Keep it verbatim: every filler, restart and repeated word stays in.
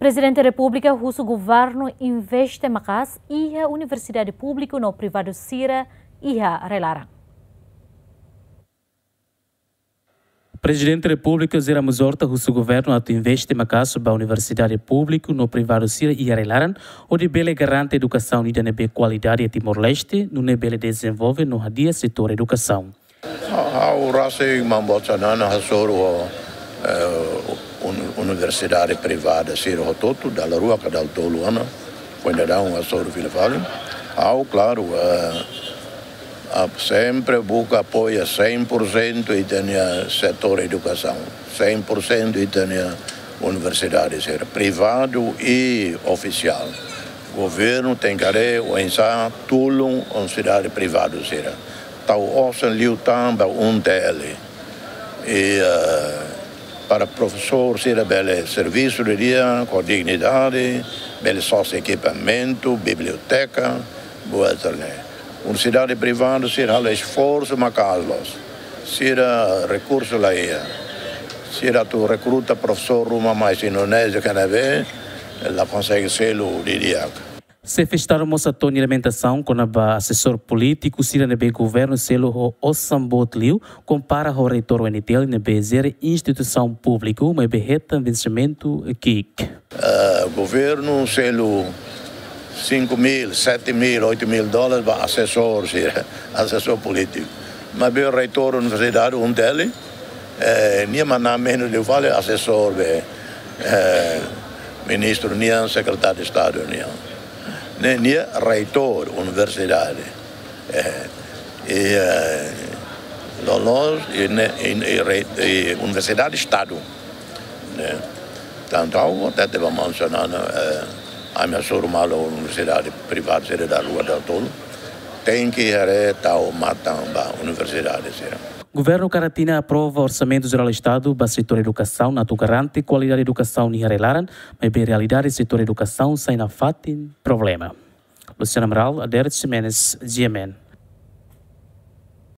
Prezidente Repúblika husu governu investe maka'as iha universidade públiku no privadu sira iha rai-laran. Prezidente Repúblika José Ramos Horta husu governu atu investe maka'as ba universidade públiku no privadu sira iha rai-laran, hodi bele garante edukasaun ida ne'ebé kualidade iha Timor-Leste, nune'e bele dezenvolve no hadi'a setór edukasaun. Ha'u rasik Maun Boot Xanana hasoru ho, eh, un-, universidade privada sira hotu-hotu, dala rua ka dala tolu ona, foin daudaun hasoru fila fali. Ha'u, klaru, eh, a, sempre buka apoia cem por cento ita-nia setór edukasaun, cem por cento ita-nia universidade sira, privadu i ofisiál. Governu tenke haree oinsá tulun universidade privadu sira. Tau osan liután ba U N T L. I, eh, para profesór sira bele servisu didi'ak ho dignidade, bele sosa ekipamentu, biblioteka, buat sira-ne'e. Universidade privadu sira halo esforsu maka'as loos. Sira rekursu la iha. Sira atu rekruta profesór ruma mai Indonézia ka ne'ebé, la konsege selu didi'ak. Xefe Estadu mós hato'o nia lamentasaun kona-ba asesór polítiku sira ne'ebé governu selu ho osan boot liu, kompara ho reitór U N T L ne'ebé jere instituisaun públiku, maibé hetan vensimentu ki'ik. Eh, governu selu cinco mil, sete mil, oito mil dólares ba asesór sira, asesór polítiku. Maibé reitór universidade U N T L, eh, nia manán menus liu fali asesór be, eh, ministru nian, sekretáriu Estadu nian. Ne'e, nia reitór universidade. Eh, i, eh, loloos, i ne'e, i, i rei-, i universidade Estadu. Ne'e. Tantu ha'u hatete ba Maun Xanana, eh, ami hasoru malu universidade privadu sira dala rua dala tolu. Tenke haree tau matan ba universidade sira. Governu Karatina aprova Orsamentu Jerál Estadu ba setór edukasaun atu garante kualidade edukasaun iha rai-laran, maibé realidade setór edukasaun sai nafatin problema. Luciano Amaral, Adérito Ximenes, G M N.